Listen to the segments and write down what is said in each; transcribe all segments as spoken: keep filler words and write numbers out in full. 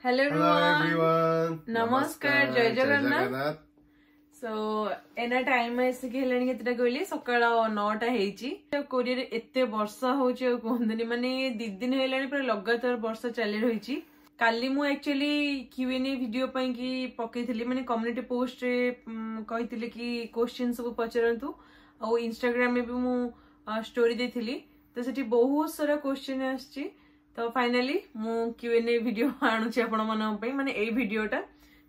Hello Hello everyone. ନମସ୍କାର, ଜୟ Jagannath. Jagannath. Show ଏନା time ଆସିକି ହେଲାଣି କେତେଟା କହିଲି ସକାଳ ନଅଟା ହେଇଛି ଆଉ କୋରିଆରେ ଏତେ ବର୍ଷା ହଉଛି ଆଉ କୁହନ୍ତୁନି ମାନେ ଦି ଦିନ ହେଲାଣି ପୁରା ଲଗାତାର ବର୍ଷା ଚାଲି ରହିଛି କାଲି ମୁଁ ଆକ୍ଚୁଆଲି କ୍ୟୁଏନଏ ଭିଡିଓ ପାଇଁ କି ପକେଇଥିଲି ମାନେ କମ୍ୟୁନିଟି ପୋଷ୍ଟରେ କହିଥିଲି କି କୋଶ୍ଚିନ୍ ସବୁ ପଚାରନ୍ତୁ ଆଉ ଇନଷ୍ଟାଗ୍ରାମରେ ବି ମୁଁ ଷ୍ଟୋରି ଦେଇଥିଲି ତ ସେଠି ବହୁତ ସାରା କୋଶ୍ଚିନ୍ ଆସିଛି ତ ଫାଇନାଲି ମୁଁ କ୍ୟୁଏନଏ ଭିଡିଓ ଆଣୁଛି ଆପଣମାନଙ୍କ ପାଇଁ ମାନେ ଏଇ ଭିଡିଓଟା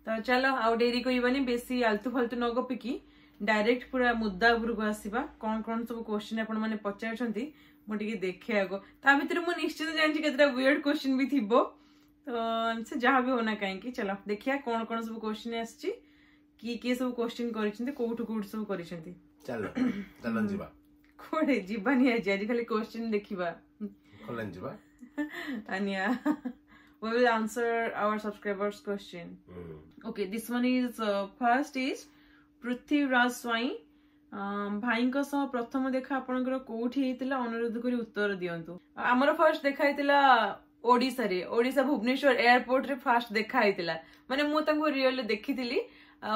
ତ ଚାଲ ଆଉ ଡେରି କରିବାନି ବେଶୀ ଆଲତୁ ଫାଲତୁ ନ ଗପିକି ଡାଇରେକ୍ଟ ପୁରା ମୁଦ୍ଦା ଉପରକୁ ଆସିବା କଣ କଣ ସବୁ କୋଶ୍ଚିନ୍ ଆପଣ ମାନେ ପଚାରୁଛନ୍ତି ମୁଁ ଟିକେ ଦେଖେ ଆଗ ତା ଭିତରେ ମୁଁ ନିଶ୍ଚିତ ଜାଣିଛି କେତେଟା ୱିୟର୍ଡ କୋଶ୍ଚିନ୍ ବି ଥିବ ତ ସେ ଯାହା ବି ହଉନା କାହିଁକି ଚାଲ ଦେଖିବା କଣ କଣ ସବୁ କୋଶ୍ଚିନ୍ ଆସିଛି କିଏ କିଏ ସବୁ କୋଶ୍ଚିନ୍ କରିଛନ୍ତି କୋଉଠୁ କୋଉଠୁ ସବୁ କରିଛନ୍ତି ଚାଲ ଚାଲ ଯିବା କୁଆଡେ ଯିବାନି ଆଜି ଆଜି ଖାଲି କୋଶ୍ଚିନ୍ ଦେଖିବା କଲେଜ ଯିବା and yeah we will answer our subscribers question okay this one is uh, first is Prithviraj Swain ଅଁ, ଭାଇଙ୍କ ସହ ପ୍ରଥମ ଦେଖା ଆପଣଙ୍କର କୋଉଠି ହେଇଥିଲା ଅନୁରୋଧ କରି ଉତ୍ତର ଦିଅନ୍ତୁ ଆମର ଫାର୍ଷ୍ଟ ଦେଖା ହେଇଥିଲା ଓଡିଶାରେ ଓଡିଶା ଭୁବନେଶ୍ୱର ଏୟାରପୋର୍ଟରେ ଫାର୍ଷ୍ଟ ଦେଖା ହେଇଥିଲା ମାନେ ମୁଁ ତାଙ୍କୁ ରିଅଲରେ ଦେଖିଥିଲି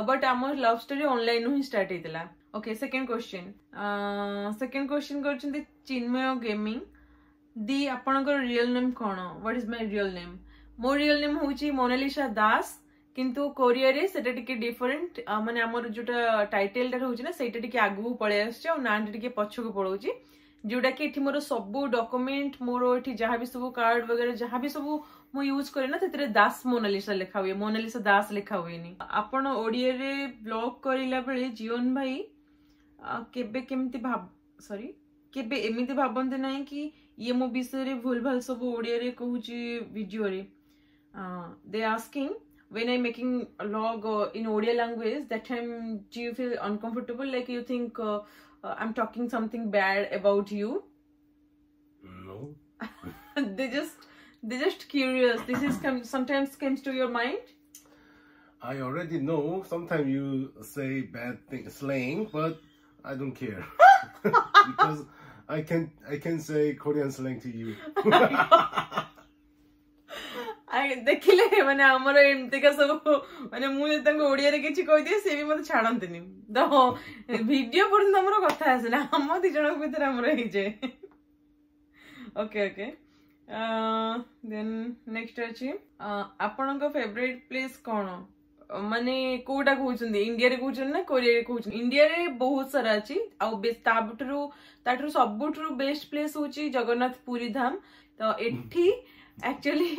ବଟ୍ ଆମ ଲଭ୍ ଷ୍ଟୋରି ଅନଲାଇନ ହିଁ ଷ୍ଟାର୍ଟ ହେଇଥିଲା okay second question second question କରିଛନ୍ତି ଚିନ୍ମୟ ଗେମିଂ ଦି ଆପଣଙ୍କର ରିଅଲ ନେମ୍ କଣ What is my real name ମୋ ରିଅଲ ନେମ୍ ହଉଛି ମୋନାଲିସା ଦାସ କିନ୍ତୁ କୋରିଆରେ ସେଟା ଟିକେ ଡିଫରେଣ୍ଟ ମାନେ ଆମର ଯୋଉଟା ଟାଇଟେଲଟା ରହୁଛି ନା ସେଇଟା ଟିକେ ଆଗକୁ ପଳେଇ ଆସୁଛି ଆଉ ନାଁଟା ଟିକେ ପଛକୁ ପଳଉଛି ଯୋଉଟା କି ଏଠି ମୋର ସବୁ ଡକୁମେଣ୍ଟ ମୋର ଏଠି ଯାହା ବି ସବୁ କାର୍ଡ ବଗେରା ଯାହା ବି ସବୁ ମୁଁ ୟୁଜ କରେ ନା ସେଥିରେ ଦାସ ମୋନାଲିସା ଲେଖା ହୁଏ ମୋନାଲିସା ଦାସ ଲେଖା ହୁଏନି ଆପଣ ଓଡିଆରେ ବ୍ଲଗ କରିଲା ବେଳେ ଜୀବନ ଭାଇ ଆ, କେବେ କେମିତି ଭାବ ସରି କେବେ ଏମିତି ଭାବନ୍ତି ନାହିଁ କି ଇଏ ମୋ ବିଷୟରେ ଭୁଲ ଭାଲ ସବୁ ଓଡିଆରେ କହୁଛି ଭିଡିଓରେ they asking when I'm making a vlog uh, in Odia language, that time do you feel uncomfortable? Like you think uh, uh, I'm talking something bad about you? No. they just they just curious. This is come sometimes comes to your mind. I already know sometimes you say bad thing slang, but I don't care. because I can I can say Korean slang to you. I ଦେଖିଲେ ମାନେ ଆମର ଏମିତିକା ସବୁ ମାନେ ମୁଁ ଯଦି ତାଙ୍କୁ ଓଡିଆରେ କିଛି କହିଦିଏ ସେ ବି ମତେ ଛାଡନ୍ତିନି ତ ଭିଡିଓ ପର୍ଯ୍ୟନ୍ତ ଆମର କଥା ଆସେନା ଆମ ଦି ଜଣଙ୍କ ଭିତରେ ଆମର ହେଇଯାଏ ଓକେ ଓକେ ଦେନ୍ ନେକ୍ସଟ ଅଛି ଅଁ, ଆପଣଙ୍କ ଫେଭରେଟ ପ୍ଲେସ୍ କଣ ମାନେ କୋଉଟା କହୁଛନ୍ତି ଇଣ୍ଡିଆରେ କହୁଛନ୍ତି ନା କୋରିଆରେ କହୁଛନ୍ତି ଇଣ୍ଡିଆରେ ବହୁତ ସାରା ଅଛି ଆଉ ବେ- ତାଠାରୁ ତାଠାରୁ ସବୁଠାରୁ ବେଷ୍ଟ ପ୍ଲେସ୍ ହଉଛି ଜଗନ୍ନାଥ ପୁରୀ ଧାମ ତ ଏଠି ଆକ୍ଚୁଆଲି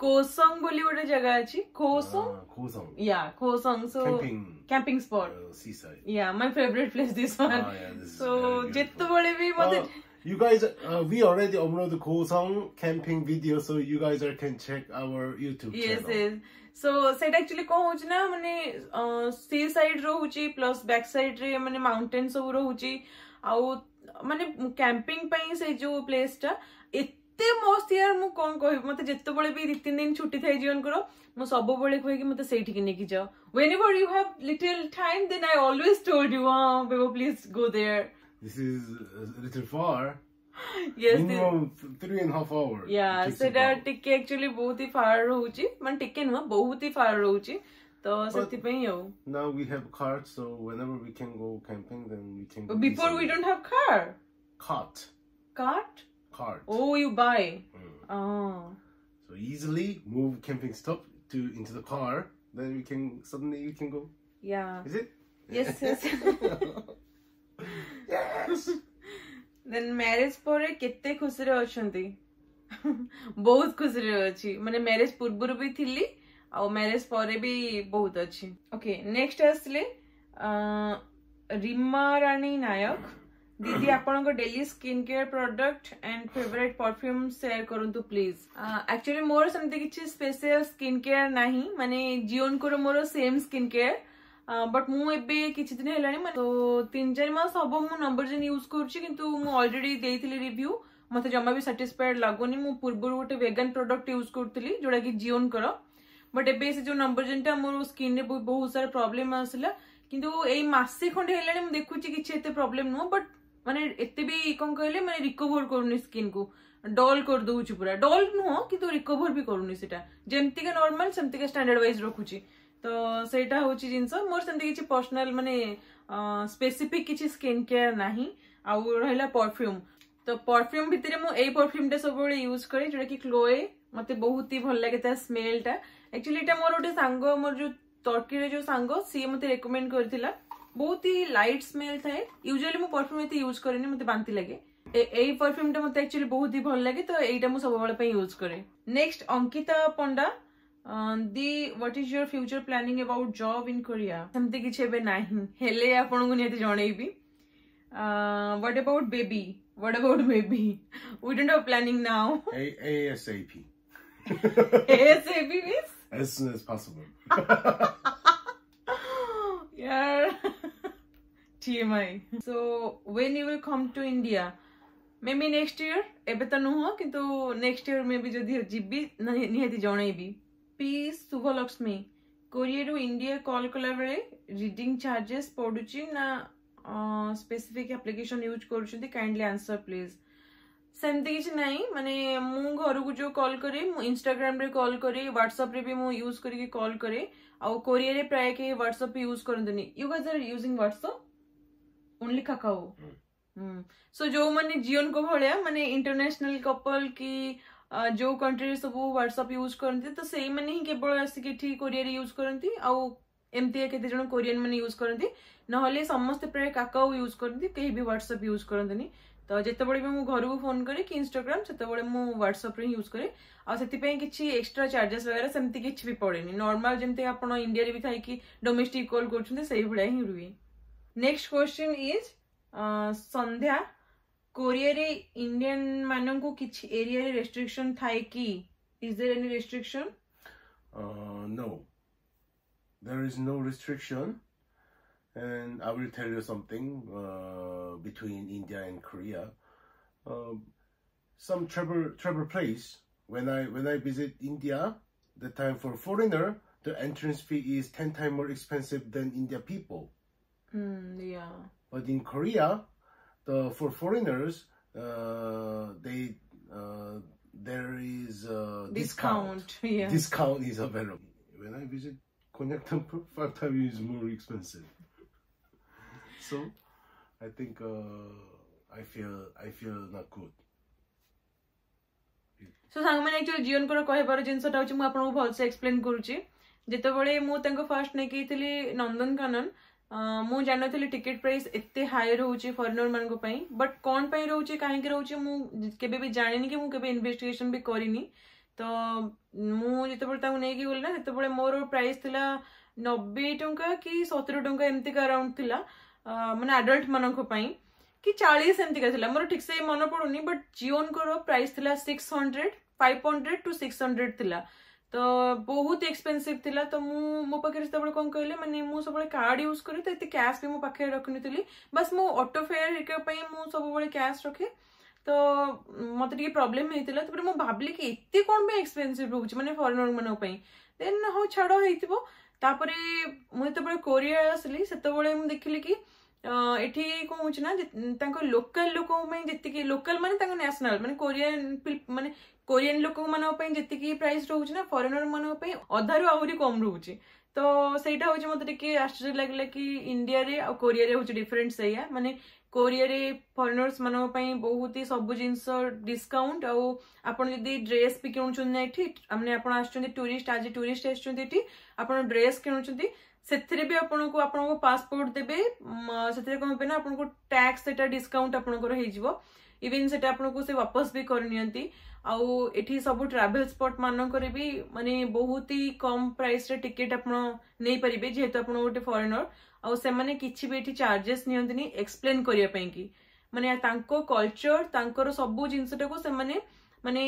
କୋସଙ୍ଗ ବୋଲି ଗୋଟେ ଜାଗା ଅଛି କୋସଙ୍ଗ Ah, 고성. Yeah କୋସଙ୍ଗ show Camping camping spot uh, seaside. Yeah my favorite place this one Ah, yeah, this is show very beautiful. ଯେତେବେଳେ ବି ମତେ Uh, you guys, uh, we already uploaded Gosong camping video, so you guys are, can check our YouTube Yes channel. yes so ସେଇଟା actually କଣ ହଉଛି ନା ମାନେ C side ରହୁଛି plus back side ରେ ମାନେ ମାଉଣ୍ଟେନ ସବୁ ରହୁଛି ଆଉ ମାନେ କ୍ୟାମ୍ପିଂ ପାଇଁ ସେଇ ଯୋଉ ପ୍ଲେସ୍ ଟା ଏତେ ମସ୍ତ ୟାର ମୁଁ କଣ କହିବି ମତେ ଯେତେବେଳେ ବି ଦି ତିନି ଦିନ ଛୁଟି ଥାଏ ଜୀବନଙ୍କର ମୁଁ ସବୁବେଳେ କୁହେ କି ମତେ ସେଇଠିକି ନେଇକି ଯାଅ whenever you have little time then I always told you oh baby please go there This is a little far. yes this- Minimum th- three and a half hour. Yeah It takes ସେଟା about. ଟିକେ actually ବହୁତ ହି ଫାର ରହୁଛି ମାନେ ଟିକେ ନୁହଁ ବହୁତ ହି ଫାର ରହୁଛି ତ ସେଥିପାଇଁ ଆଉ Now we have car, so whenever we can go camping, then we can go. Before we easily. don't have car Cart. cart Cart. oh you buy Mm. oh So easily move camping stuff to into the car. Then we can suddenly we can go. yeah Is it? yes yes Yes. Then marriage ପରେ କେତେ ଖୁସିରେ ଅଛନ୍ତି ବହୁତ ଖୁସିରେ ଅଛି ମାନେ marriage ପୂର୍ବରୁ ବି ଥିଲି ଆଉ ମ୍ୟାରେଜ ପରେ ବି ବହୁତ ଅଛି ଓକେ ନେକ୍ସଟ ଆସିଲେ ଅଁ, ରିମା ରାଣୀ ନାୟକ ଦିଦି ଆପଣଙ୍କ daily skin care product and favorite perfume share କରନ୍ତୁ ପ୍ଲିଜ ଆକ୍ଚୁଆଲି ମୋର ସେମିତି କିଛି ସ୍ପେଶିଆଲ ସ୍କିନ୍ କେୟାର ନାହିଁ ମାନେ ଜିଓନଙ୍କର ମୋର ସେମ୍ ସ୍କିନ୍ କେୟାର ବଟ୍ ମୁଁ ଏବେ କିଛି ଦିନ ହେଲାଣି ମାନେ ତ ତିନି ଚାରି ମାସ ହବ ମୁଁ ନମ୍ବର ୟୁଜ କରୁଛି କିନ୍ତୁ ମୁଁ ଅଲରେଡି ଦେଇଥିଲି ରିଭ୍ୟୁ ମତେ ଜମା ବି ସାଟିସ୍ଫାଏଡ ଲାଗୁନି ମୁଁ ପୂର୍ବରୁ ଗୋଟେ ଭେଗାନ ପ୍ରଡକ୍ଟ ୟୁଜ କରୁଥିଲି ଯୋଉଟା କି ଜିଓନଙ୍କର ବଟ୍ ଏବେ ସେ ଯୋଉ ନମ୍ବର ମୋର ସ୍କିନରେ ବହୁତ ସାରା ପ୍ରୋବ୍ଲେମ ଆସିଲା କିନ୍ତୁ ଏଇ ମାସେ ଖଣ୍ଡେ ହେଲାଣି ମୁଁ ଦେଖୁଛି କିଛି ଏତେ ପ୍ରୋବ୍ଲେମ ନୁହଁ ବଟ୍ ମାନେ ଏତେ ବି କଣ କହିଲେ ମାନେ ରିକଭର କରୁନି ସ୍କିନ୍ କୁ ଡଲ୍ କରିଦଉଛି ପୁରା ଡଲ୍ ନୁହଁ କିନ୍ତୁ ରିକଭର ବି କରୁନି ସେଟା ଯେମିତିକା ନର୍ମାଲ ସେମିତିକା ଷ୍ଟାଣ୍ଡାର୍ଡ ୱାଇଜ ରଖୁଛି ତ ସେଇଟା ହଉଛି ଜିନିଷ ମୋର ସେମିତି କିଛି ପର୍ସନାଲ ମାନେ ସ୍ପେସିଫିକ କିଛି ସ୍କିନ୍ କେୟାର ନାହିଁ ଆଉ ରହିଲା ପରଫ୍ୟୁମ ତ ପରଫ୍ୟୁମ ଭିତରେ ମୁଁ ଏଇ ପରଫ୍ୟୁମଟା ସବୁବେଳେ ୟୁଜ କରେ ଯୋଉଟା କି କ୍ଲୋଏ ମତେ ବହୁତ ହି ଭଲ ଲାଗେ ତା ସ୍ମେଲଟା ଆକ୍ଚୁଆଲି ଏଇଟା ମୋର ଗୋଟେ ସାଙ୍ଗ ମୋର ଯୋଉ ଟର୍କିରେ ଯୋଉ ସାଙ୍ଗ ସିଏ ମତେ ରେକମେଣ୍ଡ କରିଥିଲା ବହୁତ ହି ଲାଇଟ୍ ସ୍ମେଲ ଥାଏ ୟୁଜୁଆଲି ମୁଁ ପରଫ୍ୟୁମ ଏତେ ୟୁଜ କରେନି ମତେ ବାନ୍ତି ଲାଗେ ଏ- ଏଇ ପରଫ୍ୟୁମଟା ମତେ ଆକ୍ଚୁଆଲି ବହୁତ ହି ଭଲ ଲାଗେ ତ ଏଇଟା ମୁଁ ସବୁବେଳେ ପାଇଁ ୟୁଜ କରେ next Ankita Panda the what is your future planning about job in Korea ସେମିତି କିଛି ଏବେ ନାହିଁ ହେଲେ ଆପଣଙ୍କୁ ନିହାତି ଜଣେଇବି what about baby what about baby we don't have planning now A ASAP. ASAP means As soon as possible. Yeah. TMI. So when you will come to India? Maybe next year. ଏବେ ତ ନୁହଁ କିନ୍ତୁ next year May ବି ଯଦି ଯିବି ନିହାତି ଜଣେଇବି P Subhalaxmi କୋରିଆରୁ India call କଲା ବେଳେ ରିଡିଂ ଚାର୍ଜେସ୍ ପଡୁଛି ନା ସ୍ପେସିଫିକ ଆପ୍ଲିକେସନ ୟୁଜ୍ କରୁଛନ୍ତି କାଇଣ୍ଡଲି ଆନ୍ସର ପ୍ଲିଜ ସେମିତି କିଛି ନାହିଁ ମାନେ ମୁଁ ଘରକୁ ଯୋଉ କଲ୍ କରେ ମୁଁ ଇନଷ୍ଟାଗ୍ରାମରେ କଲ୍ କରେ ହ୍ୱାଟ୍ସଆପରେ ବି ମୁଁ ୟୁଜ୍ କରିକି କଲ୍ କରେ ଆଉ କୋରିଆରେ ପ୍ରାୟ କେହି ହ୍ୱାଟ୍ସଆପ ୟୁଜ୍ କରନ୍ତିନି you guys are using WhatsApp only Kakao show ଯୋଉମାନେ ଜିଓନଙ୍କ ଭଳିଆ ମାନେ ଇଣ୍ଟରନ୍ୟାସନାଲ କପଲ କି ଅ, ଯୋଉ କଣ୍ଟ୍ରିରେ ସବୁ ହ୍ୱାଟ୍ସଆପ ୟୁଜ୍ କରନ୍ତି ତ ସେଇମାନେ ହିଁ କେବଳ ଆସିକି ଏଠି କୋରିଆରେ ୟୁଜ୍ କରନ୍ତି ଆଉ ଏମିତି କେତେ ଜଣ କୋରିଆନ ମାନେ ୟୁଜ୍ କରନ୍ତି ନହେଲେ ସମସ୍ତେ ପ୍ରାୟ କାକାଓ ୟୁଜ୍ କରନ୍ତି କେହି ବି ହ୍ୱାଟ୍ସଆପ ୟୁଜ୍ କରନ୍ତିନି ତ ଯେତେବେଳେ ବି ମୁଁ ଘରକୁ ଫୋନ କରେ କି ଇନଷ୍ଟାଗ୍ରାମ ସେତେବେଳେ ମୁଁ ହ୍ୱାଟ୍ସଆପରେ ହିଁ ୟୁଜ୍ କରେ ଆଉ ସେଥିପାଇଁ କିଛି ଏକ୍ସଟ୍ରା ଚାର୍ଜେସ୍ ବଗେରା ସେମିତି କିଛି ବି ପଡେନି ନର୍ମାଲ ଯେମିତି ଆପଣ ଇଣ୍ଡିଆରେ ବି ଥାଇକି ଡୋମେଷ୍ଟିକ କଲ୍ କରୁଛନ୍ତି ସେଇଭଳିଆ ହିଁ ରୁହେ ନେକ୍ସଟ କ୍ୱେଶ୍ଚନ is ସନ୍ଧ୍ୟା କୋରିଆରେ ଇଣ୍ଡିଆନ ମାନଙ୍କୁ କିଛି ଏରିଆରେ ରେଷ୍ଟ୍ରିକ୍ସନ ଥାଏ କି is there any restriction Uh, no, there is no restriction, and I will tell you something uh, between India and Korea. Um, some travel travel place when I when I visit India, the time for foreigner the entrance fee is ten times more expensive than India people. Yeah But in Korea, the for foreigners, uh, they uh, there is a discount. Discount yeah Discount is available. When I visit Konark Temple, five times is more expensive. So, I think uh, I feel I feel not good. Show ସାଙ୍ଗମାନେ actually ଜିଓନଙ୍କର କହିବାର ଜିନିଷଟା ହଉଛି ମୁଁ ଆପଣଙ୍କୁ ଭଲସେ explain କରୁଛି ଯେତେବେଳେ ମୁଁ ତାଙ୍କୁ ଫାର୍ଷ୍ଟ ନେଇକି ଯାଇଥିଲି ନନ୍ଦନକାନନ ଅଁ, ମୁଁ ଜାଣିନଥିଲି ଟିକେଟ ପ୍ରାଇସ୍ ଏତେ ହାଇ ରହୁଛି ଫରେନର ମାନଙ୍କ ପାଇଁ ବଟ୍ କଣ ପାଇଁ ରହୁଛି କାହିଁକି ରହୁଛି ମୁଁ କେବେ ବି ଜାଣିନି କି ମୁଁ କେବେ ଇନଭେଷ୍ଟିଗେସନ ବି କରିନି ତ ମୁଁ ଯେତେବେଳେ ତାଙ୍କୁ ନେଇକି ଗଲି ନା ସେତେବେଳେ ମୋର ପ୍ରାଇସ୍ ଥିଲା ନବେ ଟଙ୍କା କି ସତୁରି ଟଙ୍କା ଏମିତିକା ଆରାଉଣ୍ଡ ଥିଲା ଅଁ, ମାନେ ଆଡଲ୍ଟ ମାନଙ୍କ ପାଇଁ କି ଚାଳିଶ ଏମିତିକା ଥିଲା ମୋର ଠିକ ସେ ମନେ ପଡୁନି ବଟ୍ ଜିଓନଙ୍କର ପ୍ରାଇସ୍ ଥିଲା six hundred five hundred to six hundred ଥିଲା ତ ବହୁତ ଏକ୍ସପେନ୍ସିଭ ଥିଲା ତ ମୁଁ ମୋ ପାଖରେ ସେତେବେଳେ କଣ କହିଲେ ମାନେ ମୁଁ ସବୁବେଳେ କାର୍ଡ ୟୁଜ କରେ ତ ଏତେ କ୍ୟାସ୍ ବି ମୋ ପାଖରେ ରଖିନଥିଲି ବାସ୍ ମୁଁ ଅଟୋ ଫେୟାର ହେରିକା ପାଇଁ ମୁଁ ସବୁବେଳେ କ୍ୟାସ୍ ରଖେ ତ ମତେ ଟିକେ ପ୍ରୋବ୍ଲେମ ହେଇଥିଲା ତାପରେ ମୁଁ ଭାବିଲି କି ଏତେ କଣ ପାଇଁ ଏକ୍ସପେନ୍ସିଭ ରହୁଛି ମାନେ ଫରେନର ମାନଙ୍କ ପାଇଁ ଦେନ୍ ହଉ ଛାଡ ହେଇଥିବ ତାପରେ ମୁଁ ଯେତେବେଳେ କୋରିଆ ଆସିଲି ସେତେବେଳେ ମୁଁ ଦେଖିଲି କି ଅ, ଏଠି କଣ ହଉଛି ନା ଯେ- ତାଙ୍କ ଲୋକାଲ ଲୋକଙ୍କ ପାଇଁ ଯେତିକି ଲୋକାଲ ମାନେ ତାଙ୍କ ନ୍ୟାସନାଲ ମାନେ କୋରିଆନ ମାନେ କୋରିଆନ ଲୋକମାନଙ୍କ ପାଇଁ ଯେତିକି ପ୍ରାଇସ୍ ରହୁଛି ନା ଫରେନର ମାନଙ୍କ ପାଇଁ ଅଧାରୁ ଆହୁରି କମ ରହୁଛି ତ ସେଇଟା ହଉଛି ମତେ ଟିକେ ଆଶ୍ଚର୍ଯ୍ୟ ଲାଗିଲା କି ଇଣ୍ଡିଆରେ ଆଉ କୋରିଆରେ ହଉଛି ଡିଫରେଣ୍ଟ ସେଇଆ ମାନେ କୋରିଆରେ ଫରେନର୍ସ ମାନଙ୍କ ପାଇଁ ବହୁତ ହି ସବୁ ଜିନିଷ ଡିସକାଉଣ୍ଟ ଆଉ ଆପଣ ଯଦି ଡ୍ରେସ୍ ବି କିଣୁଛନ୍ତି ନା ଏଠି ମାନେ ଆପଣ ଆସୁଛନ୍ତି ଟୁରିଷ୍ଟ ଆଜି ଟୁରିଷ୍ଟ ଆସିଛନ୍ତି ଏଠି ଆପଣ ଡ୍ରେସ୍ କିଣୁଛନ୍ତି ସେଥିରେ ବି ଆପଣଙ୍କୁ ଆପଣଙ୍କ ପାସପୋର୍ଟ ଦେବେ ମ, ସେଥିରେ କଣ ହେବେ ନା ଆପଣଙ୍କୁ ଟ୍ୟାକ୍ସ ସେଟା ଡିସକାଉଣ୍ଟ ଆପଣଙ୍କର ହେଇଯିବ ଇଭେନ ସେଟା ଆପଣଙ୍କୁ ସେ ୱାପସ ବି କରିନିଅନ୍ତି ଆଉ ଏଠି ସବୁ ଟ୍ରାଭେଲ ସ୍ପଟ ମାନଙ୍କରେ ବି ମାନେ ବହୁତ ହି କମ ପ୍ରାଇସ ରେ ଟିକେଟ ଆପଣ ନେଇପାରିବେ ଯେହେତୁ ଆପଣ ଗୋଟେ ଫରେନର ଆଉ ସେମାନେ କିଛି ବି ଏଠି ଚାର୍ଜେସ୍ ନିଅନ୍ତିନି ଏକ୍ସପ୍ଲେନ କରିବା ପାଇଁ କି ମାନେ ତାଙ୍କ କଲଚର ତାଙ୍କର ସବୁ ଜିନିଷଟାକୁ ସେମାନେ ମାନେ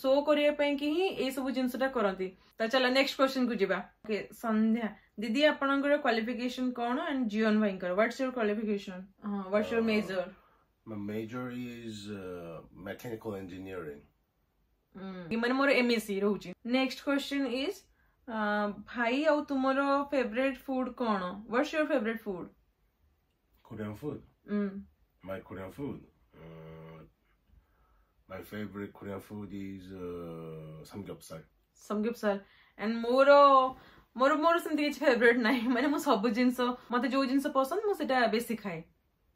ଶୋ କରିବା ପାଇଁ କି ହିଁ ଏଇ ସବୁ ଜିନିଷଟା କରନ୍ତି ତ ଚାଲ ନେକ୍ସଟ କ୍ୱେଶ୍ଚନ କୁ ଯିବା ଓକେ ସନ୍ଧ୍ୟା ଦିଦି ଆପଣଙ୍କର କ୍ୱାଲିଫିକେସନ କଣ ଆଣ୍ଡ ଜିଓନ ଭାଇଙ୍କର what's your qualification ହଁ what's your major My major is uh, mechanical engineering. ମାନେ ମୋର ଏମଏସସି ରହୁଛି ନେକ୍ସଟ କ୍ୱେଶ୍ଚନ is ଭାଇ ଆଉ ତୁମର ଫେଭରେଟ ଫୁଡ କଣ what's your favourite food Korean food. My Korean food. Uh, My favorite Korean food is uh, samgyeopsal. Samgyeopsal and ମୋର ମୋର ମୋର ସେମିତି କିଛି ଫେଭରେଟ୍ ନାହିଁ ମାନେ ମୁଁ ସବୁ ଜିନିଷ ମତେ ଯୋଉ ଜିନିଷ ପସନ୍ଦ ମୁଁ ସେଟା ବେଶୀ ଖାଏ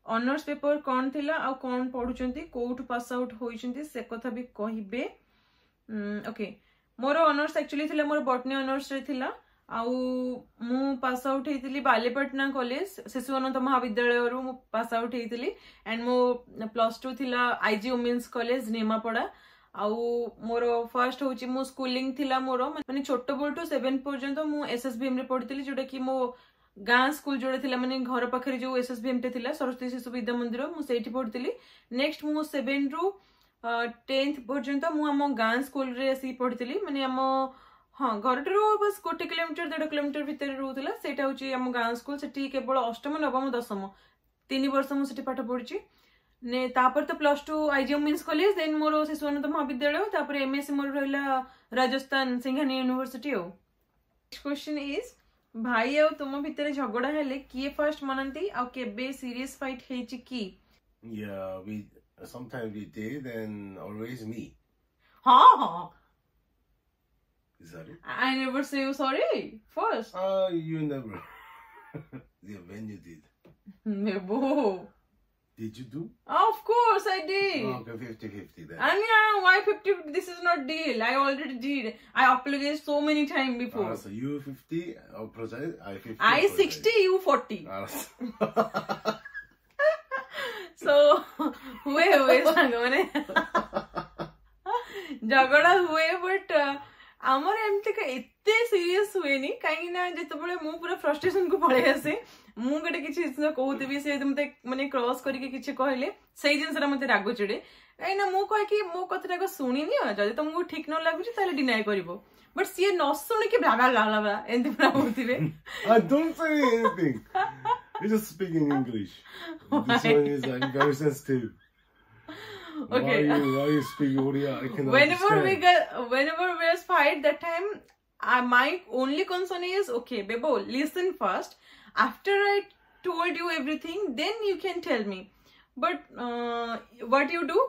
ଅନର୍ସ ପେପର କଣ ଥିଲା ଆଉ କଣ ପଢୁଛନ୍ତି କୋଉଠୁ ପାସ୍ ଆଉଟ୍ ହୋଇଛନ୍ତି ସେ କଥା ବି କହିବେ ଓକେ ମୋର ଅନର୍ସ ଆକ୍ଚୁଆଲି ଥିଲା ମୋର ବଟନୀ ଅନର୍ସରେ ଥିଲା ଆଉ ମୁଁ ପାସ୍ ଆଉଟ୍ ହେଇଥିଲି ବାଲିପାଟଣା କଲେଜ ଶିଶୁ ଅନନ୍ତ ମହାବିଦ୍ୟାଳୟରୁ ମୁଁ ପାସ୍ ଆଉଟ୍ ହେଇଥିଲି ଆଣ୍ଡ ମୋ ପ୍ଲସ୍ ଟୁ ଥିଲା ଆଇଜି ଓମେନ୍ସ କଲେଜ ନିମାପଡ଼ା ଆଉ ମୋର ଫାର୍ଷ୍ଟ ହଉଛି ମୋ ସ୍କୁଲିଂ ଥିଲା ମୋର ମାନେ ଛୋଟ ବେଳଠୁ ସେଭେନ ପର୍ଯ୍ୟନ୍ତ ମୁଁ ଏସ୍ ଏସ୍ ଭି ଏମ୍ ରେ ପଢିଥିଲି ଯୋଉଟା କି ମୋ ଗାଁ ସ୍କୁଲ ଯୋଉଟା ଥିଲା ମାନେ ଘର ପାଖରେ ଯୋଉ ଏସ୍ ଏସ୍ ଭି ଏମ୍ ଟେ ଥିଲା ସରସ୍ୱତୀ ଶିଶୁ ବିଦ୍ୟା ମନ୍ଦିର ମୁଁ ସେଇଠି ପଢିଥିଲି ନେକ୍ସଟ ମୁଁ ସେଭେନ ରୁ ଟେନ୍ଥ ପର୍ଯ୍ୟନ୍ତ ମୁଁ ଆମ ଗାଁ ସ୍କୁଲରେ ଆସିକି ପଢିଥିଲି ମାନେ ଆମ ହଁ ଘରଠାରୁ ବାସ୍ ଗୋଟେ କିଲୋମିଟର ଦେଢ କିଲୋମିଟର ଭିତରେ ରହୁଥିଲା ସେଇଟା ହଉଛି ଆମ ଗାଁ ସ୍କୁଲ ସେଠି କେବଳ ଅଷ୍ଟମ ନବମ ଦଶମ ତିନି ବର୍ଷ ମୁଁ ସେଠି ପାଠ ପଢିଛି ନେ ତାପରେ ତ plus two IG women's college then ମୋର ଶିଶୁ ଅନନ୍ତ ମହାବିଦ୍ୟାଳୟ ତାପରେ ଏମଏସସି ମୋର ରହିଲା ରାଜସ୍ଥାନ ସିଂହାନି ୟୁନିଭର୍ସିଟି ଆଉ ନେକ୍ସଟ କ୍ୱେଶ୍ଚନ is ଭାଇ ଆଉ ତୁମ ଭିତରେ ଝଗଡା ହେଲେ କିଏ ଫାର୍ଷ୍ଟ ମନାନ୍ତି ଆଉ କେବେ ସିରିୟସ ଫାଇଟ୍ ହେଇଛି କି Yeah, we sometimes we did, and always me. ହଁ ହଁ Is that it? I never say you sorry first. Uh, you never. yeah, when you did. Nebo. Did you do? Of course I did. Okay, fifty-fifty then. And yeah, why fifty? This is not deal. I already did. I apologized so many times before. Ah, so you fifty, apologize, I fifty. I apologize. sixty, you forty. 알았어. So, ହୁଏ ହୁଏ ସାଙ୍ଗମାନେ ଝଗଡ଼ା ହୁଏ but ଆମର ଏମିତି ଏତେ serious ହୁଏନି କାହିଁକି ନା ଯେତେବେଳେ ମୁଁ ପୁରା ଫ୍ରଷ୍ଟ୍ରେସନ କୁ ପଳେଇ ଆସେ ମୁଁ ଗୋଟେ କିଛି ଜିନିଷ କହୁଥିବି ସେ ମତେ ମାନେ କ୍ରସ୍ କରିକି କିଛି କହିଲେ ସେଇ ଜିନିଷଟା ମତେ ରାଗ ଚିଡେ କାହିଁକି ନା ମୁଁ କହେ କି ମୋ କଥାଟାକୁ ଶୁଣିନିଅ ଯଦି ତମକୁ ଠିକ ନ ଲାଗୁଛି ତାହେଲେ ଡିନାଏ କରିବ ବଟ୍ ସିଏ ନ ଶୁଣିକି ବ୍ଲା ବ୍ଲା ବ୍ଲା ବ୍ଲା ଏମିତି ପୁରା ହଉଥିବେ I don't say anything. You just speak in English. This one is I'm very sensitive. Okay. Why you why you speak Odia? I cannot whenever we understand. get whenever we fight that time uh, my only concern is okay bebo listen first after i told you everything then you can tell me but uh, what you do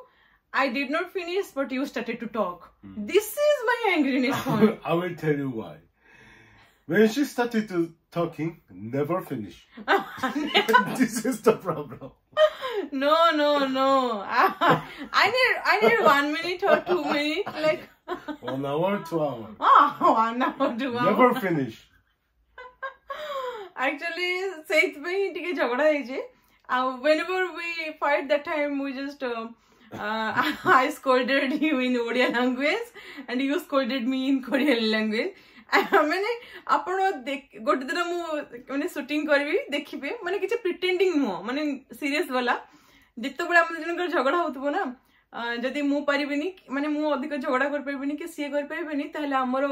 i did not finish but you started to talk this is my angriness point I will tell you why. When she started to talking, never finish. This is the problem. no no no i need i need one minute or two minutes like One hour, two hour. ah one hour two hour Never finish. Actually ସେଇଥିପାଇଁ ଟିକେ ଝଗଡା ହେଇଛି ଆଉ whenever we fight that time we just uh, uh, I scolded you in Odia language and you scolded me in Korean language ମାନେ ଆପଣ ଦେଖ- ଗୋଟେ ଦିନ ମୁଁ ମାନେ ସୁଟିଂ କରିବି ଦେଖିବେ ମାନେ କିଛି ପ୍ରିଟେଣ୍ଡିଂ ନୁହଁ ମାନେ ସିରିୟସ ବାଲା ଯେତେବେଳେ ଆମ ଜଣଙ୍କର ଝଗଡା ହଉଥିବ ନା ଅ, ଯଦି ମୁଁ ପାରିବିନି ମାନେ ମୁଁ ଅଧିକ ଝଗଡା କରିପାରିବିନି କି ସିଏ କରିପାରିବେନି ତାହେଲେ ଆମର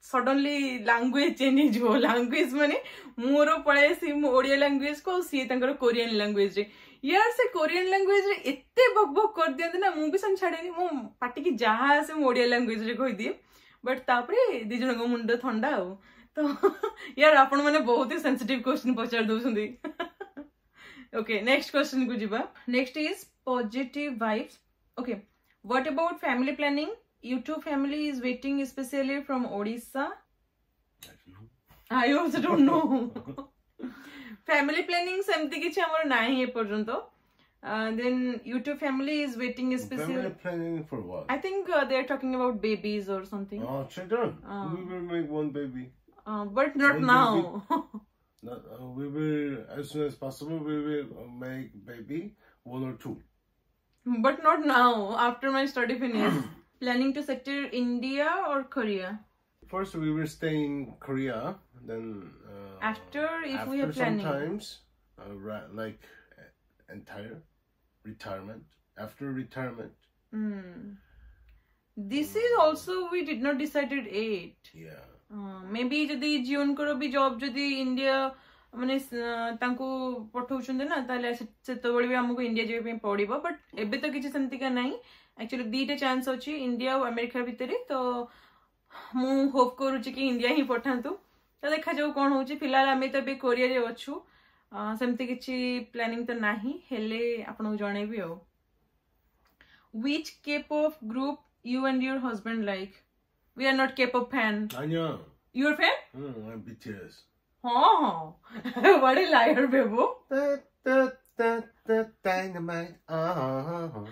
ସଡନଲି ଲାଙ୍ଗୁଏଜ ଚେଞ୍ଜ ହେଇଯିବ ଲାଙ୍ଗୁଏଜ ମାନେ ମୋର ପଳେଇ ଆସିବି ମୁଁ ଓଡିଆ ଲାଙ୍ଗୁଏଜ କୁ ଆଉ ସିଏ ତାଙ୍କର କୋରିଆନ ଲାଙ୍ଗୁଏଜରେ ୟାର ସେ କୋରିଆନ ଲାଙ୍ଗୁଏଜରେ ଏତେ ବକ୍ ବକ୍ କରିଦିଅନ୍ତି ନା ମୁଁ ବି ସେମିତି ଛାଡେନି ମୋ ପାଟିକି ଯାହା ଆସେ ମୁଁ ଓଡିଆ ଲାଙ୍ଗୁଏଜରେ କହିଦିଏ ବଟ୍ ତାପରେ ଦି ଜଣଙ୍କ ମୁଣ୍ଡ ଥଣ୍ଡା ଆଉ ତ ୟାର ଆପଣ ମାନେ ବହୁତ ହି ସେନ୍ସିଟିଭ କ୍ୱେଶ୍ଚିନ୍ ପଚାରି ଦଉଛନ୍ତି ଓକେ ନେକ୍ସଟ କ୍ୱେଶ୍ଚିନ୍ କୁ ଯିବା next is positive vibes okay what about family planning youtube family is waiting especially from odisha I don't know. i also don't know family planning ସେମିତି କିଛି ଆମର ନାହିଁ ଏପର୍ଯ୍ୟନ୍ତ then youtube family is waiting especially Family planning for what? i think uh, they are talking about babies or something Oh, children. Oh. We will make one baby. uh, but not One now Not, uh, we will, as soon as possible, we will uh, make baby one or two. but not now after my study finish planning to settle india or korea First, we will stay in Korea. Then uh, After, if we after are planning. sometimes, uh, ra- like uh, entire retirement. After retirement, Hmm. This is also we did not decided yet. yeah. May ବି ଯଦି ଜିଓନଙ୍କର ବି job ଯଦି India ମାନେ ସ- ତାଙ୍କୁ ପଠଉଛନ୍ତି ନା ତାହେଲେ ସେ- ସେତେବେଳେ ବି ଆମକୁ ଇଣ୍ଡିଆ ଯିବା ପାଇଁ ପଡିବ ବଟ୍ ଏବେ ତ କିଛି ସେମିତିକା ନାହିଁ ଆକ୍ଚୁଆଲି ଦିଟା ଚାନ୍ସ ଅଛି ଇଣ୍ଡିଆ ଆଉ ଆମେରିକା ଭିତରେ ତ ମୁଁ ହୋପ୍ କରୁଛି କି ଇଣ୍ଡିଆ ହିଁ ପଠାନ୍ତୁ ତ ଦେଖାଯାଉ କଣ ହଉଛି ଫିଲହାଲ ଆମେ ତ ଏବେ କୋରିଆରେ ଅଛୁ ଅ, ସେମିତି କିଛି ପ୍ଲାନିଂ ତ ନାହିଁ ହେଲେ ଆପଣଙ୍କୁ ଜଣେଇବି ଆଉ Which K-pop group you and your husband like? We are not K-pop fan. 아니야. You are fan? 응, I'm B T S. ହଁ ହଁ, what a liar, Bebo. Da, da, da, da, dynamite. Ah.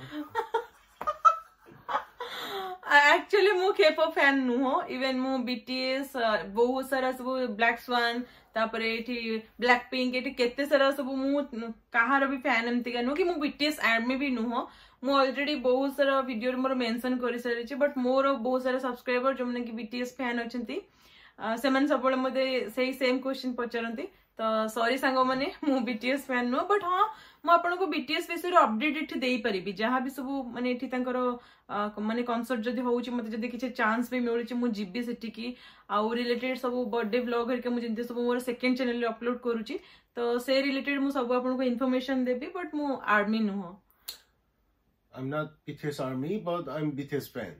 Actually ମୁଁ K-pop fan ନୁହଁ। Even ମୁଁ BTS, ବହୁତ ସାରା ସବୁ black swan, ତାପରେ ଏଠି black pink, ଏଠି କେତେ ସାରା ସବୁ, ମୁଁ କାହାର ବି ଫ୍ୟାନ୍ ଏମିତିକା ନୁହଁ କି ମୁଁ ବିଟିଏସ୍ ଆର୍ମି ବି ନୁହଁ। ମୁଁ ଅଲରେଡି ବହୁତ ସାରା ଭିଡିଓରେ ମୋର ମେନସନ କରିସାରିଛି। ବଟ୍ ମୋର ବହୁତ ସାରା ସବସ୍କ୍ରାଇବର ଯୋଉମାନେ କି ବିଟିଏସ୍ ଫ୍ୟାନ୍ ଅଛନ୍ତି, ସେମାନେ ସବୁବେଳେ ମତେ ସେଇ ସେମ୍ କ୍ୱେଶ୍ଚିନ୍ ପଚାରନ୍ତି। ତ ସରି ସାଙ୍ଗମାନେ, ମୁଁ ବିଟିଏସ୍ ଫ୍ୟାନ୍ ନୁହଁ। ବଟ୍ ହଁ, ମୁଁ ଆପଣଙ୍କୁ ବିଟିଏସ୍ ବିଷୟରେ ଅପଡେଟ୍ ଏଠି ଦେଇପାରିବି। ଯାହା ବି ସବୁ ମାନେ ଏଠି ତାଙ୍କର ମାନେ କନସର୍ଟ ଯଦି ହଉଛି, ମତେ ଯଦି କିଛି ଚାନ୍ସ ବି ମିଳୁଛି, ମୁଁ ଯିବି ସେଠିକି। ଆଉ ରିଲେଟେଡ୍ ସବୁ ବର୍ଥଡେ ବ୍ଲଗ ହେରିକା ମୁଁ ଯେମିତି ସବୁ ମୋର ସେକେଣ୍ଡ ଚ୍ୟାନେଲରେ ଅପଲୋଡ କରୁଛି, ତ ସେ ରିଲେଟେଡ୍ ମୁଁ ସବୁ ଆପଣଙ୍କୁ ଇନଫର୍ମେସନ ଦେବି। ବଟ୍ ମୁଁ ଆର୍ମି ନୁହଁ। I'm not B T S army, but I'm B T S fan.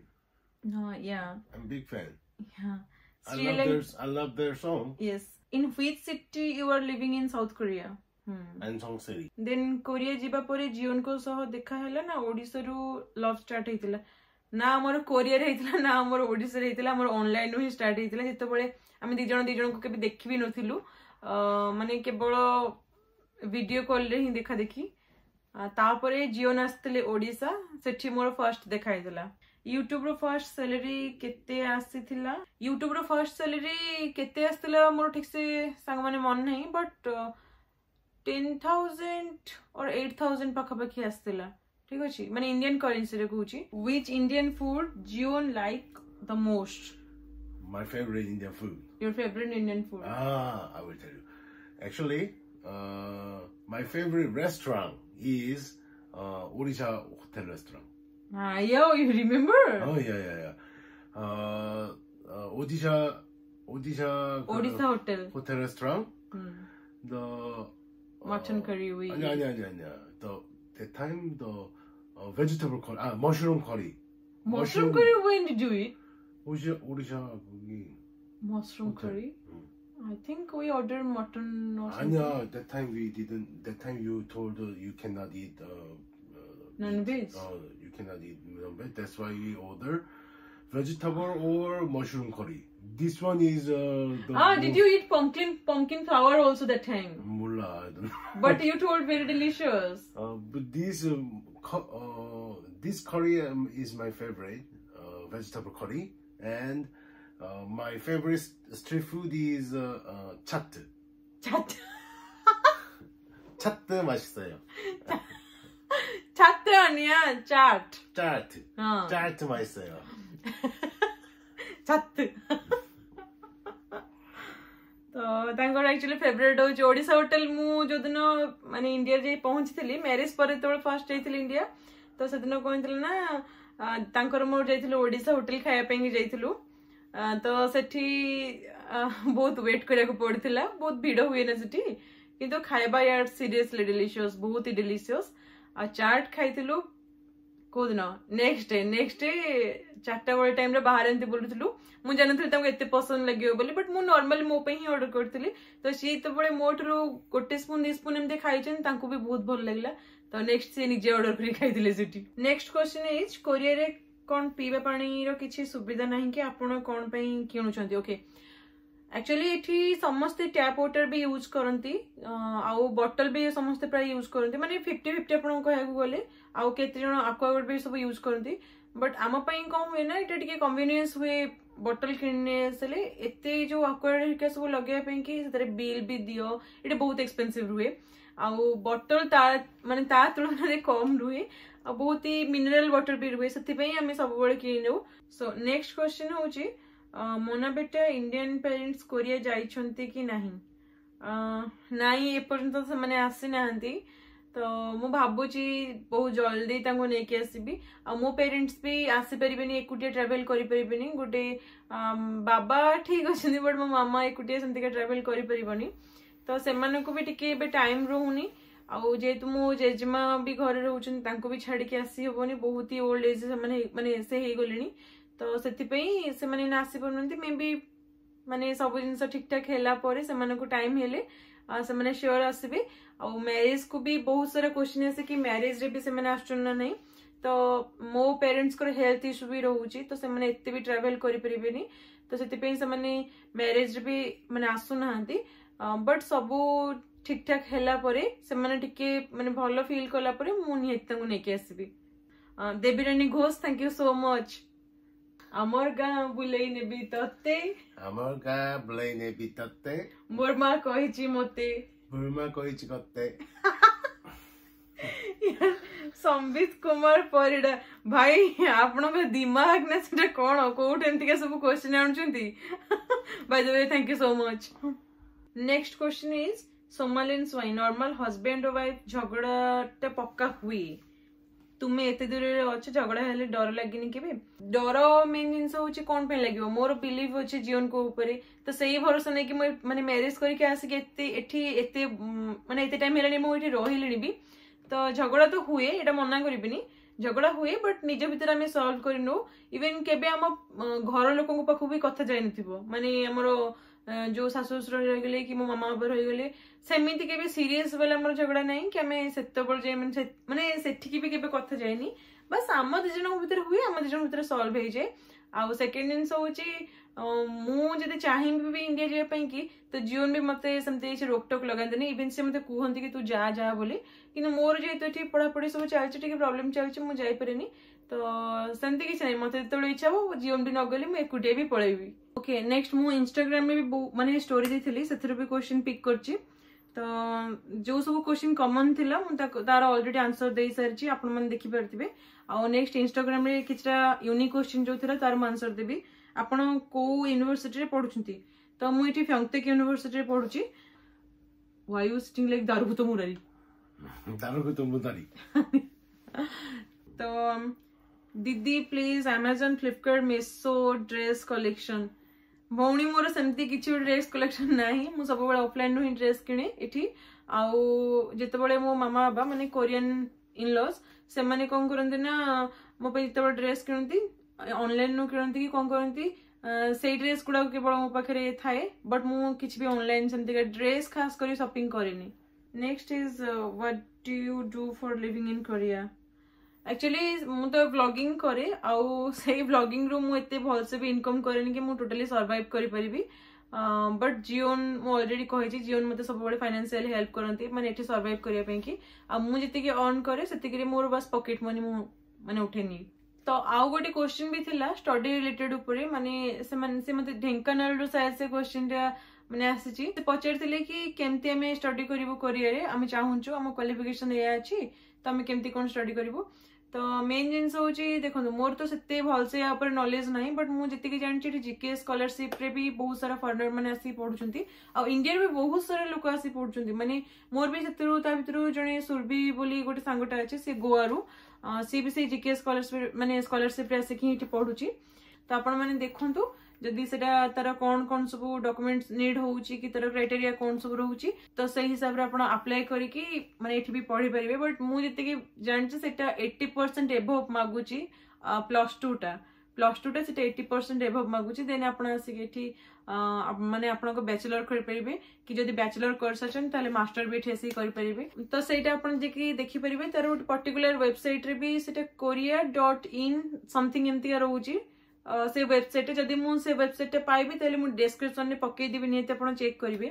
ହଁ, yeah. I'm big fan. Yeah. I love their I love their song. Yes. In which city you are living in South Korea? Hmm. Anseong City. Then Korea ଯିବା ପରେ ଜିଓନଙ୍କ ସହ ଦେଖା ହେଲା ନା ଓଡିଶାରୁ love start ହେଇଥିଲା? ନା ଆମର କୋରିଆରେ ହେଇଥିଲା, ନା ଆମର ଓଡିଶାରେ ହେଇଥିଲା। ଆମର ଅନଲାଇନରୁ ହିଁ ଷ୍ଟାର୍ଟ ହେଇଥିଲା, ଯେତେବେଳେ ଆମେ ଦି ଜଣ ଦି ଜଣଙ୍କୁ କେବେ ଦେଖି ବି ନଥିଲୁ, ମାନେ କେବଳ ଭିଡିଓ କଲରେ ହିଁ ଦେଖା ଦେଖି। ତାପରେ ଜିଓନ ଆସିଥିଲେ ଓଡିଶା, ସେଠି ମୋର ଫାର୍ଷ୍ଟ ଦେଖା ହେଇଥିଲା। ୟୁଟ୍ୟୁବର ଫାର୍ଷ୍ଟ ସାଲେରୀ କେତେ ଆସିଥିଲା? ୟୁଟ୍ୟୁବର ଫାର୍ଷ୍ଟ ସାଲେରୀ କେତେ ଆସିଥିଲା ମୋର ଠିକ ସେ ସାଙ୍ଗମାନେ ମନେ ନାହିଁ, but ten thousand or eight thousand ପାଖାପାଖି ଆସିଥିଲା। ଠିକ ଅଛି, ମାନେ ଇଣ୍ଡିଆନ କରେନ୍ସିରେ କହୁଛି। Which Indian food Jion like the most? My favorite Indian food. Your favorite Indian food. Ah, I will tell you. Actually, uh, my favorite restaurant is uh, Odisha Hotel Restaurant. Ah, yo, you remember? Oh yeah, yeah, yeah. Uh, uh, Odisha, Odisha. Odisha Hotel. Hotel Restaurant. Hmm. The mutton curry we. 아니 아니 아니 아니야. The that time the uh, vegetable curry, 아, mushroom curry. Mushroom curry, when did you eat? 오리샤 오리샤 거기. Mushroom hotel. Curry? 응. I think we ordered mutton or something. 아니야, that time we didn't. That time you told uh, you cannot eat. Uh, uh, Non-veg. Uh, you cannot eat non-veg. That's why we order vegetable or mushroom curry. This one is uh, the Ah, did you eat pumpkin pumpkin flower also that time? 몰라, I don't know. But you told very delicious. Uh, but this um, cu- uh, this curry um, is my favorite uh, vegetable curry, and uh, my favorite street food is uh, uh, chaat. Chat. 차트 맛있어요. 차트 아니야, chaat. 차트. 어. 차트 맛있어요. 차트. ତ ତାଙ୍କର actually favourite ହଉଛି Odisha hotel. ମୁଁ ଯୋଉଦିନ ମାନେ India ଯାଇ ପହଞ୍ଚିଥିଲି, marriage ପରେ ଯେତେବେଳେ first ଯାଇଥିଲି ଇଣ୍ଡିଆ, ତ ସେଦିନ କଣ ହେଇଥିଲା ନା ଆ, ତାଙ୍କର ମୋର ଯାଇଥିଲୁ ଓଡ଼ିଶା ହୋଟେଲ ଖାଇବା ପାଇଁ ଯାଇଥିଲୁ। ଆ, ତ ସେଠି ଆ, ବହୁତ ୱେଟ୍ କରିବାକୁ ପଡିଥିଲା, ବହୁତ ଭିଡ ହୁଏ ନା ସେଠି। କିନ୍ତୁ ଖାଇବା ୟାର ସିରିୟସଲି ଡେଲିସିୟସ୍, ବହୁତ ହି ଡେଲିସିୟସ୍। ଆଉ ଚାଟ୍ ଖାଇଥିଲୁ କୋଉଦିନ? ନେକ୍ସଟ ଡେ ନେକ୍ସଟ ଡେ ଚାରିଟା ବେଳେ ଟାଇମରେ ବାହାରେ ଏମିତି ବୁଲୁଥିଲୁ। ମୁଁ ଜାଣିନଥିଲି ତାଙ୍କୁ ଏତେ ପସନ୍ଦ ଲାଗିବ ବୋଲି, ବଟ୍ ମୁଁ ନର୍ମାଲି ମୋ ପାଇଁ ହିଁ ଅର୍ଡର କରିଥିଲି। ତ ସିଏ ଯେତେବେଳେ ମୋ ଠାରୁ ଗୋଟେ ସ୍ପୁନ ଦି ସ୍ପୁନ ଏମିତି ଖାଇଛନ୍ତି, ତାଙ୍କୁ ବି ବହୁତ ଭଲ ଲାଗିଲା। ତ ନେକ୍ସଟ ସିଏ ନିଜେ ଅର୍ଡର କରି ଖାଇଥିଲେ ସେଠି। ନେକ୍ସଟ କ୍ୱେଶ୍ଚନ is, କୋରିଆରେ କଣ ପିଇବା ପାଣିର କିଛି ସୁବିଧା ନାହିଁ କି? ଆପଣ କଣ ପାଇଁ କିଣୁଛନ୍ତି? ଓକେ, ଆକ୍ଚୁଆଲି ଏଠି ସମସ୍ତେ ଟ୍ୟାପ୍ ୱାଟର ବି ୟୁଜ୍ କରନ୍ତି, ଆଉ ବଟଲ ବି ସମସ୍ତେ ପ୍ରାୟ ୟୁଜ୍ କରନ୍ତି, ମାନେ ଫିଫ୍ଟି ଫିଫ୍ଟି ଆପଣଙ୍କୁ କହିବାକୁ ଗଲେ। ଆଉ କେତେ ଜଣ ଆକ୍ୱାଗାର୍ଡ ବି ସବୁ ୟୁଜ୍ କରନ୍ତି। ବଟ୍ ଆମ ପାଇଁ କଣ ହୁଏ ନା ଏଇଟା ଟିକେ କନଭିନିଏନ୍ସ ହୁଏ ବଟଲ କିଣି ନେଇ ଆସିଲେ। ଏତେ ଯୋଉ ଆକ୍ୱାଗାର୍ଡ ହେରିକା ସବୁ ଲଗେଇବା ପାଇଁ କି ସେଥିରେ ବିଲ୍ ବି ଦିଅ, ଏଇଟା ବହୁତ ଏକ୍ସପେନ୍ସିଭ ରୁହେ। ଆଉ ବଟଲ ତା ମାନେ ତା ତୁଳନାରେ କମ ରୁହେ, ଆଉ ବହୁତ ହି ମିନେରାଲ ୱାଟର ବି ରୁହେ, ସେଥିପାଇଁ ଆମେ ସବୁବେଳେ କିଣି ନେଉ। ସୋ ନେକ୍ସଟ କ୍ୱେଶ୍ଚନ ହଉଛି, ମୋନା ବେଟା ଇଣ୍ଡିଆନ ପ୍ୟାରେଣ୍ଟସ୍ କୋରିଆ ଯାଇଛନ୍ତି କି ନାହିଁ? ନାଇଁ, ଏପର୍ଯ୍ୟନ୍ତ ସେମାନେ ଆସିନାହାନ୍ତି। ତ ମୁଁ ଭାବୁଛି ବହୁତ ଜଲ୍ଦି ତାଙ୍କୁ ନେଇକି ଆସିବି। ଆଉ ମୋ ପ୍ୟାରେଣ୍ଟସ୍ ବି ଆସିପାରିବେନି, ଏକୁଟିଆ ଟ୍ରାଭେଲ କରିପାରିବେନି। ଗୋଟେ ବାବା ଠିକ ଅଛନ୍ତି, ବଟ୍ ମୋ ମାମା ଏକୁଟିଆ ସେମିତିକା ଟ୍ରାଭେଲ କରିପାରିବନି। ତ ସେମାନଙ୍କୁ ବି ଟିକେ ଏବେ ଟାଇମ ରହୁନି। ଆଉ ଯେହେତୁ ମୋ ଜେଜେମା ବି ଘରେ ରହୁଛନ୍ତି, ତାଙ୍କୁ ବି ଛାଡିକି ଆସି ହବନି। ବହୁତ ହି ଓଲ୍ଡ ଏଜ୍ ସେମାନେ, ମାନେ ସେ ହେଇଗଲେଣି। ତ ସେଥିପାଇଁ ସେମାନେ ଏଇନା ଆସିପାରୁନାହାନ୍ତି। ମେ ବି ମାନେ ସବୁ ଜିନିଷ ଠିକ ଠାକ ହେଲା ପରେ, ସେମାନଙ୍କୁ ଟାଇମ ହେଲେ ସେମାନେ ସିଓର ଆସିବେ। ଆଉ ମ୍ୟାରେଜ କୁ ବି ବହୁତ ସାରା କ୍ୱେଶ୍ଚିନ୍ ଆସେ କି ମ୍ୟାରେଜରେ ବି ସେମାନେ ଆସୁଛନ୍ତି ନା ନାହିଁ। ତ ମୋ ପ୍ୟାରେଣ୍ଟସ୍ଙ୍କର ହେଲ୍ଥ ଇସ୍ୟୁ ବି ରହୁଛି ତ ସେମାନେ ଏତେ ବି ଟ୍ରାଭେଲ କରିପାରିବେନି ତ ସେଥିପାଇଁ ସେମାନେ ମ୍ୟାରେଜରେ ବି ମାନେ ଆସୁନାହାନ୍ତି ବଟ୍ ସବୁ ଠିକ ଠାକ ହେଲା ପରେ ସେମାନେ ଟିକେ ମାନେ ଭଲ ଫିଲ୍ କଲା ପରେ ମୁଁ ନିହାତି ତାଙ୍କୁ ନେଇକି ଆସିବି Devirani Ghosh thank you so much ଆମର ଗାଁ ବୁଲେଇ ନେବି ତତେ ଆମର ଗାଁ ବୁଲେଇ ନେବି ତତେ ମୋର ମା କହିଛି ମତେ ମୋର ମା କହିଛି କତେ ସମ୍ବିତ କୁମାର ପରିଡ଼ା ଭାଇ ଆପଣଙ୍କ ଦିମାଗ ନା ସେଟା କଣ କୋଉଠି ଏମିତିକା ସବୁ କ୍ୱେଶ୍ଚିନ୍ ଆଣୁଛନ୍ତି by the way thank you so much next question is ସୋମାଲିନ Swain normal husband wife ଝଗଡାଟା ପକ୍କା ହୁଏ ତୁମେ ଏତେ ଦୂରରେ ଅଛ ଝଗଡା ହେଲେ ଡର ଲାଗେନି କେବେ ଡର ମେନ୍ ଜିନିଷ ହଉଛି କଣ ପାଇଁ ଲାଗିବ ମୋର ବିଲିଭ ଅଛି ଜିଓନଙ୍କ ଉପରେ ତ ସେଇ ଭରସା ନେଇକି ମୁଁ ମାନେ ମ୍ୟାରେଜ କରିକି ଆସିକି ଏତେ ଏଠି ଏତେ ମାନେ ଏତେ ଟାଇମ ହେଲାଣି ମୁଁ ଏଠି ରହିଲିଣି ବି ତ ଝଗଡା ତ ହୁଏ ଏଇଟା ମନା କରିବିନି ଝଗଡା ହୁଏ ବଟ୍ ନିଜ ଭିତରେ ଆମେ ସଲ୍ଭ କରିନଉ ଇଭେନ କେବେ ଆମ ଘର ଲୋକଙ୍କ ପାଖକୁ ବି କଥା ଯାଇନଥିବ ମାନେ ଆମର ଯୋଉ ଶାଶୁ ଶ୍ୱଶୁର ରହିଗଲେ କି ମୋ ମାମା ବାବା ରହିଗଲେ ସେମିତି କେବେ ସିରିୟସ ବାଲା ଆମର ଝଗଡା ନାହିଁ କି ଆମେ ସେତେବେଳେ ଯାଏ ମାନେ ମାନେ ସେଠିକି ବି କେବେ କଥା ଯାଇନି ବାସ୍ ଆମ ଦି ଜଣଙ୍କ ଭିତରେ ହୁଏ ଆମ ଦି ଜଣଙ୍କ ଭିତରେ ସଲ୍ଭ ହେଇଯାଏ ଆଉ ସେକେଣ୍ଡ ଜିନିଷ ହଉଛି ମୁଁ ଯଦି ଚାହିଁବି ବି ଇଣ୍ଡିଆ ଯିବା ପାଇଁ କି ତ ଜିଓନ ବି ମତେ ସେମିତି କିଛି ରୋକଟୋକ ଲଗାନ୍ତିନି ଇଭେନ ସେ ମତେ କୁହନ୍ତି କି ତୁ ଯା ଯା ବୋଲି କିନ୍ତୁ ମୋର ଯେହେତୁ ଏଠି ପଢାପଢି ସବୁ ଚାଲିଛି ଟିକେ ପ୍ରୋବ୍ଲେମ ଚାଲିଛି ମୁଁ ଯାଇପାରେନି ତ ସେମିତି କିଛି ନାହିଁ ମତେ ଯେତେବେଳେ ଇଚ୍ଛା ହବ ଜିଓନ ବି ନଗଲେ ମୁଁ ଏକୁଟିଆ ବି ପଳେଇବି ଓକେ ନେକ୍ସଟ ମୁଁ ଇନଷ୍ଟାଗ୍ରାମରେ ବି ମାନେ ଷ୍ଟୋରି ଦେଇଥିଲି ସେଥିରୁ ବି କ୍ୱେଶ୍ଚିନ୍ ପିକ୍ କରିଛି ତ ଯୋଉ ସବୁ କ୍ୱେଶ୍ଚିନ୍ କମନ ଥିଲା ମୁଁ ତାକୁ ତାର ଅଲରେଡି ଆନ୍ସର ଦେଇ ସାରିଛି ଆପଣମାନେ ଦେଖିପାରୁଥିବେ ଆଉ ନେକ୍ସଟ ଇନଷ୍ଟାଗ୍ରାମରେ କିଛିଟା ୟୁନିକ୍ କ୍ୱେଶ୍ଚିନ୍ ଯୋଉ ଥିଲା ତାର ମୁଁ ଆନ୍ସର ଦେବି ଆପଣ କୋଉ ୟୁନିଭର୍ସିଟିରେ ପଢୁଛନ୍ତି ତ ମୁଁ ଏଠି ପ୍ୟଙ୍ଗତେକ ୟୁନିଭର୍ସିଟିରେ ପଢୁଛି Why you sitting like ଦାରୁଭୂତ Murari ଦାରୁଭୂତ Murari ତ ଦିଦି please Amazon Flipkart Meesho dress collection ଭଉଣୀ ମୋର ସେମିତି କିଛି ଗୋଟେ ଡ୍ରେସ୍ କଲେକ୍ସନ ନାହିଁ ମୁଁ ସବୁବେଳେ ଅଫଲାଇନରୁ ହିଁ ଡ୍ରେସ୍ କିଣେ ଏଠି ଆଉ ଯେତେବେଳେ ମୋ ମାମା ବାବା ମାନେ କୋରିଆନ ଇନଲସ୍ ସେମାନେ କଣ କରନ୍ତି ନା ମୋ ପାଇଁ ଯେତେବେଳେ ଡ୍ରେସ୍ କିଣନ୍ତି ଅନଲାଇନରୁ କିଣନ୍ତି କି କଣ କରନ୍ତି ସେଇ ଡ୍ରେସ୍ ଗୁଡାକ କେବଳ ମୋ ପାଖରେ ଥାଏ ବଟ୍ ମୁଁ କିଛି ବି ଅନଲାଇନ ସେମିତିକା ଡ୍ରେସ୍ ଖାସ କରି ସପିଂ କରେନି next is what do you do for living in Korea actually ମୁଁ ତ ବ୍ଲଗିଂ କରେ ଆଉ ସେଇ ବ୍ଲଗିଂରୁ ମୁଁ ଏତେ ଭଲସେ ବି ଇନକମ୍ କରେନି କି ମୁଁ ଟୋଟାଲି ସର୍ଭାଇଭ୍ କରିପାରିବି ବଟ୍ ଜିଓନ୍ ମୁଁ ଅଲରେଡି କହିଛି ଜିଓନ୍ ମୋତେ ସବୁବେଳେ ଫାଇନାନ୍ସିଆଲି ହେଲ୍ପ କରନ୍ତି ମାନେ ଏଠି ସର୍ଭାଇଭ୍ କରିବା ପାଇଁ କି ଆଉ ମୁଁ ଯେତିକି ଅର୍ନ କରେ ସେତିକିରେ ମୋର ବାସ୍ ପକେଟ୍ ମନି ମୁଁ ମାନେ ଉଠେନି ତ ଆଉ ଗୋଟେ କ୍ୱେଶ୍ଚିନ୍ ବି ଥିଲା ଷ୍ଟଡି ରିଲେଟେଡ୍ ଉପରେ ମାନେ ସେମାନେ ସେ ମତେ ଢେଙ୍କାନାଳରୁ ସାୟଦ ସେ କ୍ୱେଶ୍ଚିନ୍ଟା ମାନେ ଆସିଛି ସେ ପଚାରିଥିଲେ କି କେମିତି ଆମେ ଷ୍ଟଡି କରିବୁ କୋରିଆରେ ଆମେ ଚାହୁଁଛୁ ଆମ କ୍ୱାଲିଫିକେସନ ଏଇଆ ଅଛି ତ ଆମେ କେମିତି କଣ ଷ୍ଟଡି କରିବୁ ତ ମେନ୍ ଜିନିଷ ହଉଛି ଦେଖନ୍ତୁ ମୋର ତ ସେତେ ଭଲସେ ୟା ଉପରେ ନଲେଜ ନାହିଁ ବଟ୍ ମୁଁ ଯେତିକି ଜାଣିଛି ଏଠି ଜିକେ ସ୍କଲାରସିପରେ ବି ବହୁତ ସାରା ଫରେନର ମାନେ ଆସିକି ପଢୁଛନ୍ତି ଆଉ ଇଣ୍ଡିଆରେ ବି ବହୁତ ସାରା ଲୋକ ଆସି ପଢୁଛନ୍ତି ମାନେ ମୋର ବି ସେଥିରୁ ତା ଭିତରୁ ଜଣେ ସୁରଭି ବୋଲି ଗୋଟେ ସାଙ୍ଗଟା ଅଛି ସେ ଗୋଆରୁ ସିଏ ବି ସେଇ ଜିକେ ସ୍କଲାରସିପ ମାନେ ସ୍କଲାରସିପରେ ଆସିକି ଏଠି ପଢୁଛି ତ ଆପଣ ମାନେ ଦେଖନ୍ତୁ ଯଦି ସେଟା ତାର କଣ କଣ ସବୁ ଡକୁମେଣ୍ଟ ନିଡ୍ ହଉଛି କି ତାର କ୍ରାଇଟେରିଆ କଣ ସବୁ ରହୁଛି ତ ସେଇ ହିସାବରେ ଆପଣ ଆପ୍ଲାଏ କରିକି ମାନେ ଏଠି ବି ପଢିପାରିବେ ବଟ୍ ମୁଁ ଯେତିକି ଜାଣିଛି ସେଟା ଏଇଟି ପରସେଣ୍ଟ ଏଭବ ମାଗୁଛି ପ୍ଲସ୍ ଟୁ ଟା ପ୍ଲସ୍ ଟୁ ଟା ସେଟା ଏଇଟି ପରସେଣ୍ଟ ଏଭବ ମାଗୁଛି ଦେନ୍ ଆପଣ ଆସିକି ଏଠି ମାନେ ଆପଣଙ୍କ ବ୍ୟାଚଲର କରିପାରିବେ କି ଯଦି ବ୍ୟାଚଲର କରିସାରିଛନ୍ତି ତାହେଲେ ମାଷ୍ଟର ବି ଏଠି ଆସିକି କରିପାରିବେ ତ ସେଇଟା ଆପଣ ଯାଇକି ଦେଖିପାରିବେ ତାର ଗୋଟେ ପର୍ଟିକୁଲାର ୱେବସାଇଟରେ ବି ସେଟା କୋରିଆ ଡଟ୍ ଇନ୍ ସମଥିଙ୍ଗ ଏମିତିକା ରହୁଛି ସେ ୱେବସାଇଟରେ ଯଦି ମୁଁ ସେ ୱେବସାଇଟଟା ପାଇବି ତାହେଲେ ମୁଁ ଡେସ୍କ୍ରିପସନରେ ପକେଇଦେବି ନିହାତି ଆପଣ ଚେକ୍ କରିବେ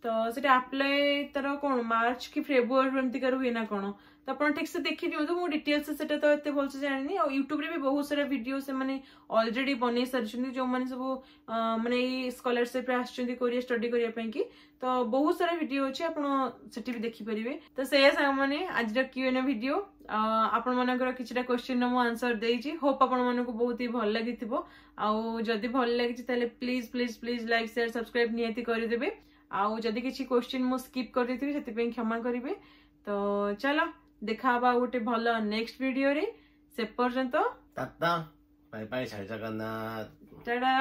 ତ ସେଟା ଆପ୍ଲାଏ ତାର କଣ ମାର୍ଚ୍ଚ କି ଫେବୃଆରୀ ଏମିତିକା ରୁହେ ନା କଣ ତ ଆପଣ ଠିକ ସେ ଦେଖି ନିଅନ୍ତୁ ମୁଁ ଡିଟେଲ୍ସ ସେଟା ତ ଏତେ ଭଲସେ ଜାଣିନି ଆଉ ୟୁଟ୍ୟୁବରେ ବି ବହୁତ ସାରା ଭିଡିଓ ସେମାନେ ଅଲରେଡି ବନେଇ ସାରିଛନ୍ତି ଯୋଉମାନେ ସବୁ ମାନେ ଏଇ ସ୍କଲାରସିପରେ ଆସିଛନ୍ତି କୋରିଆ ଷ୍ଟଡି କରିବା ପାଇଁ କି ତ ବହୁତ ସାରା ଭିଡିଓ ଅଛି ଆପଣ ସେଠି ବି ଦେଖିପାରିବେ ତ ସେଇଆ ସାଙ୍ଗମାନେ ଆଜିର କ୍ୟୁ ଏନ୍ ଭିଡିଓ ଆପଣମାନଙ୍କର କିଛିଟା କ୍ୱେଶ୍ଚିନ୍ର ମୁଁ ଆନ୍ସର ଦେଇଛି ହୋପ୍ ଆପଣମାନଙ୍କୁ ବହୁତ ହି ଭଲ ଲାଗିଥିବ ଆଉ ଯଦି ଭଲ ଲାଗିଛି ତାହେଲେ please please please like share subscribe ନିହାତି କରିଦେବେ ଆଉ ଯଦି କିଛି କ୍ୱେଶ୍ଚିନ୍ ମୁଁ ସ୍କିପ୍ କରିଦେଇଥିବି ସେଥିପାଇଁ କ୍ଷମା କରିବେ ତ ଚାଲ ଦେଖା ହବା ଗୋଟେ ଭଲ ନେକ୍ସଟ ଭିଡିଓରେ ସେ ପର୍ଯ୍ୟନ୍ତ ଟାଟା ବାଇ ବାଇ ଜୟ ଜଗନ୍ନାଥ ଟାଟା